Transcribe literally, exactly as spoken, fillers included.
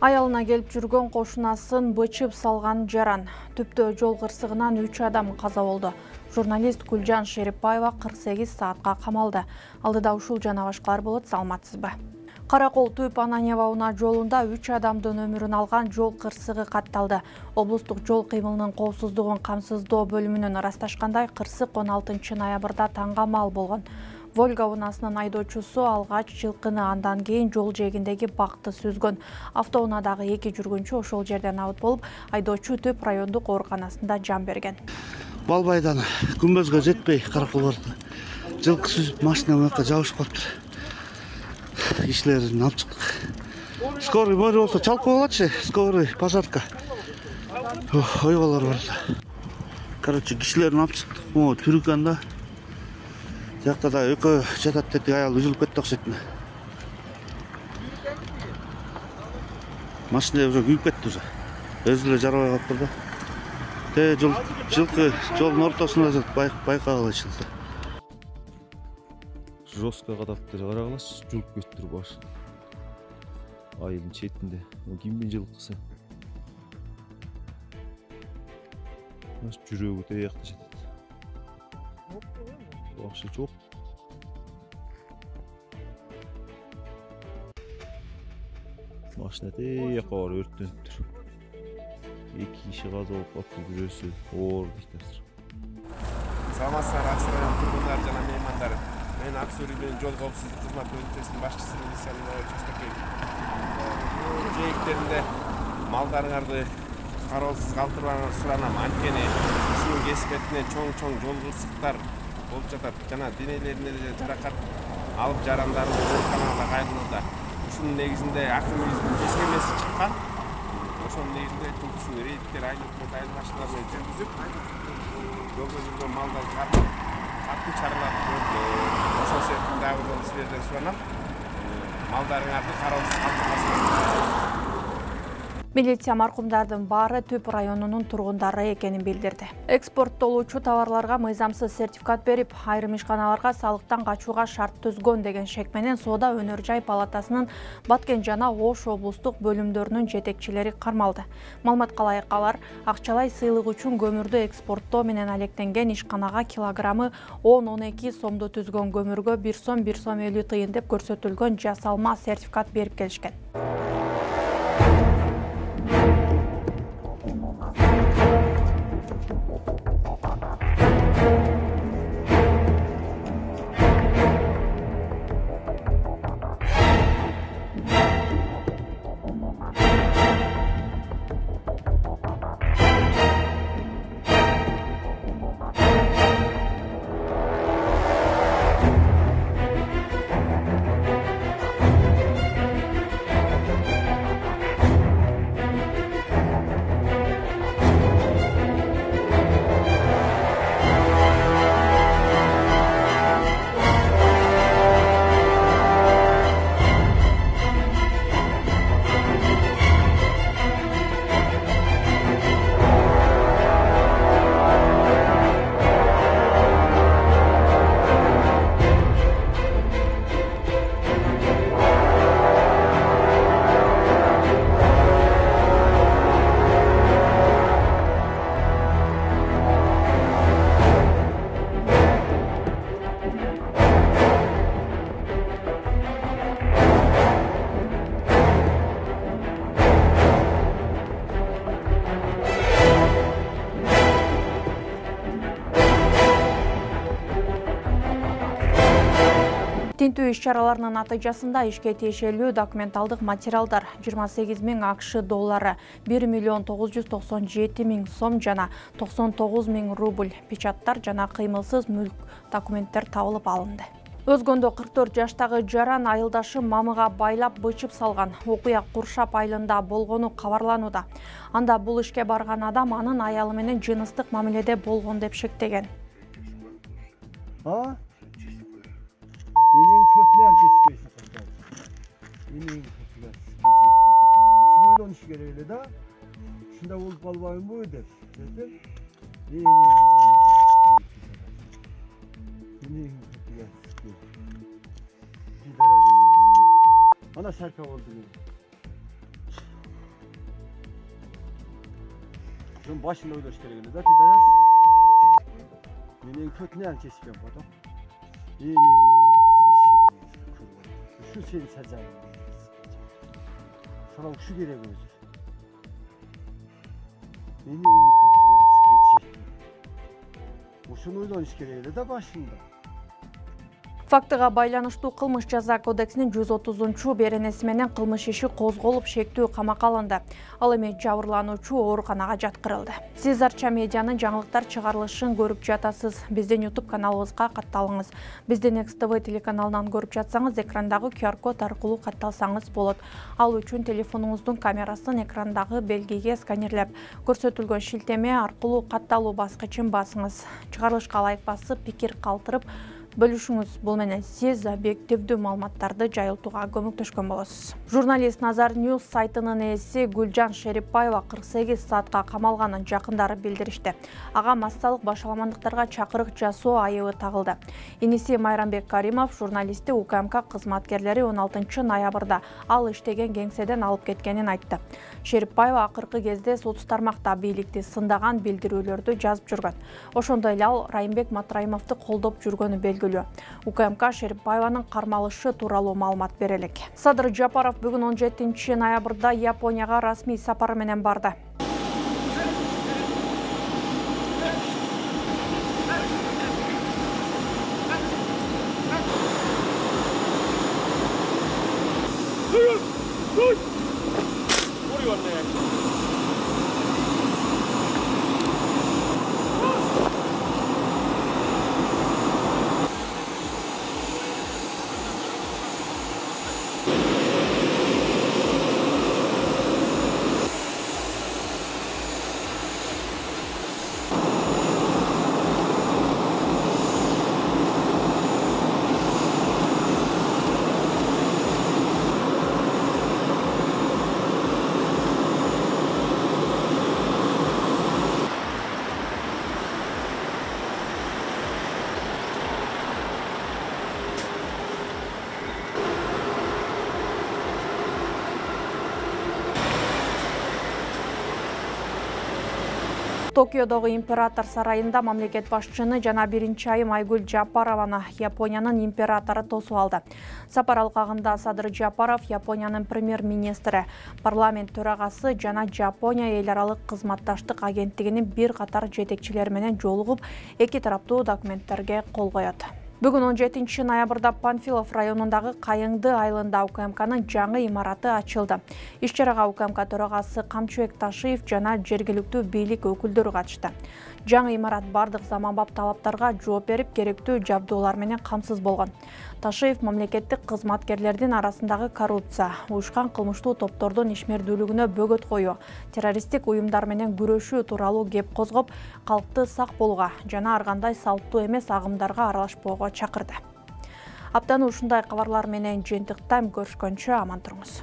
Аялына келип жүргөн кошунасын бычып салган жаран. Түптө жол кырсыгынан үч адам каза болду. Журналист Гүлжан Шерипбаева кырк сегиз саатка камалды. Алдыда ушул жана башкалар болот, саламатсызбы? Каракол Түп Ананьева унаа жолунда үч адамдын өмүрүн алган жол кырсыгы катталды. Облустук жол кыймылынын коопсуздугун камсыздоо бөлүмүнөн ырасташкандай, кырсык он алтынчы ноябрда таңга мал болгон. Волга унаасынын айдоочусу алгач жылкыны, андан кийин жол жээгиндеги бакты сүзгөн. Автоунаадагы эки жүргүнчү ошол жерден абыт болуп, айдоочу Түп райондук ооруканасында жан берген. Балбайдан күмбөзгө жетпей каракол барды. Жылкы сүзүп машина мынакка жабышып калыптыр. Кишилерин алып чыктык. Скорый мөр болсо чалкып алатчы, скорый пожарка. Ойбалар бар. Короче, кишилерин алып чыктык. Могу түрүккөн да. Жакта да экөө жатат деди, аял үзүлүп кетти окшойт. Машина уже күйүп кетти уже. Өзү эле жарабай калыптыр да. Те жол жылкы жолдун ортосунда байкагалы ичилди. Жостко кадаптыр, карагалачы, жулуп кетиптир башы. Айылдын четинде. Кимдин жылкысы? Маш жүрөгү тиякта жатат. Башы жок. Машина тияка бар, өрттөнүптүр. Эки киши каза болуп калыптыр, бирөөсү оор дейт азыр. Саламатсыздар, Аксай районунун тургундары жана меймандары. Мен Аксай районунун жол коопсуздук кызмат бөлүмчөсүнүн башчысы Мисалина Чостакей. Жээктеринде малдарыңарды кароосуз калтырбаңар суранам. Анткени ушунун кесипетинен чоң-чоң жол кырсыктар болуп жатат жана денелерине жаракат алып жарандарды ооруканага кайрылууда. Ушунун негизинде акымыбыздын кескемеси чыккан. Ошонун негизинде тулкусын рейдтер айлык айыл машиналар менен жүргүзүп, жолдо жүргөн малдарды катуу чаралап көрдү. Ошол себептен дагы бир жолу силерден суранам, малдарыңарды кароосуз калтырбаңар. Милиция маркумдардын баары Түп районунун тургундары экенин билдирди. Экспорттолуучу товарларга мыйзамсыз сертификат берип, айрым ишканаларга салыктан качууга шарт түзгөн деген шек менен Соода өнөр жай палатасынын Баткен жана Ош облустук бөлүмдөрүнүн жетекчилери кармалды. Маалыматка ылайык алар акчалай сыйлык үчүн көмүрдү экспорттоо менен алектенген ишканага килограммы он он эки сомду түзгөн көмүргө бир сом бир сом элүү тыйын деп көрсөтүлгөн жасалма сертификат берип келишкен. Тинтүү иш-чараларынын натыйжасында ишке тиешелүү документалдык материалдар жыйырма сегиз миң АКШ доллары, бир миллион тогуз жүз токсон жети миң сом жана токсон тогуз миң рубль, печаттар жана кыймылсыз мүлк документтер табылып алынды. Өзгөндө кырк төрт жаштагы жаран айылдашы мамыга байлап бычып салган. Окуя Куршап айылында болгону кабарланууда. Анда бул ишке барган адам анын аялы менен жыныстык мамиледе болгон деп шектеген. Менин көтүнөн кеспейсиң. Менин көтүнөн. Ушуну ойлонуш керек эле да. Ушунда болуп калбайбы деп. Менин менин көтүнөн. Ana şarkı oldu. Ошонун башында ойлош керек эле да пидорас. Менен көтүнөн чечкен фото. Эне ушу сен сажай. Сара ушу керек өзү. Менен көтүгө скечи. Ушуну ойлош керек эле да башында. Фактыга байланыштуу кылмыш жаза кодексинин жүз отузунчу беренеси менен кылмыш иши козголуп шектүү камакка алынды. Ал эми жабырлануучу ооруканага жаткырылды. Сиз Арча медианын жаңылыктар чыгарылышын көрүп жатасыз. Биздин YouTube каналыбызга катталыңыз. Биздин Next T V телеканалынан көрүп жатсаңыз, экрандагы Q R код аркылуу катталсаңыз болот. Ал үчүн телефонуңуздун камерасын экрандагы белгиге сканерлеп, көрсөтүлгөн шилтеме аркылуу катталуу баскычын басыңыз. Чыгарылышка ылайык басып, пикир калтырып бөлүшүңүз. Бул менен сиз объективдүү маалыматтарды жайылтууга көмөктөшкөн болосуз. Журналист Назар News сайтынын ээси Гүлжан Шерипбаева кырк сегиз саатка камалганын жакындары билдиришти. Ага массалык башаламандыктарга чакырык жасоо айыбы тагылды. Иниси Майрамбек Каримов журналистти У К М К кызматкерлери он алтынчы ноябрда ал иштеген кеңседен алып кеткенин айтты. Шерипбаева акыркы кезде соц тармакта бийликти сындаган билдирүүлөрдү жазып жүргөн. Ошондой эле ал Райымбек Матраимовду колдоп жүргөнү белгилүү. У К М К Шерипбаеванын кармалышы тууралуу маалымат берелик. Садыр Жапаров бүгүн он жетинчи ноябрда Японияга расмий сапар менен барды. Токиодогу император сарайында мамлекет башчыны жана биринчи айым Айгүл Жапарованы Япониянын императору тосуп алды. Сапар алкагында Садыр Жапаров Япониянын премьер-министри, парламент төрагасы жана Жапония эл аралык кызматташтык агенттигинин бир катар жетекчилери менен жолугуп, эки тараптуу документтерге кол коет. Бүгүн он жетинчи ноябрда Панфилов районундагы Кайыңды айылында У К М К'нын жаңы имараты ачылды. Иш-чарага У К М К төрагасы Камчыбек Ташиев жана жергиликтүү бийлик өкүлдөрү катышты. Жаңы имарат бардык заманбап талаптарга жооп берип, керектүү жабдуулар менен камсыз болгон. Ташиев мамлекеттик кызматкерлердин арасындагы коррупция, уюшкан кылмыштуу топтордун ишмердүүлүгүнө бөгөт коюу, террористтик уюмдар менен күрөшүү тууралуу кеп козгоп, калкты сак болууга жана ар кандай салттуу эмес агымдарга аралашпоого чакырды. Аптаны ушундай кабарлар менен жыйынтыктайм. Көрүшкөнчө аман туруңуз.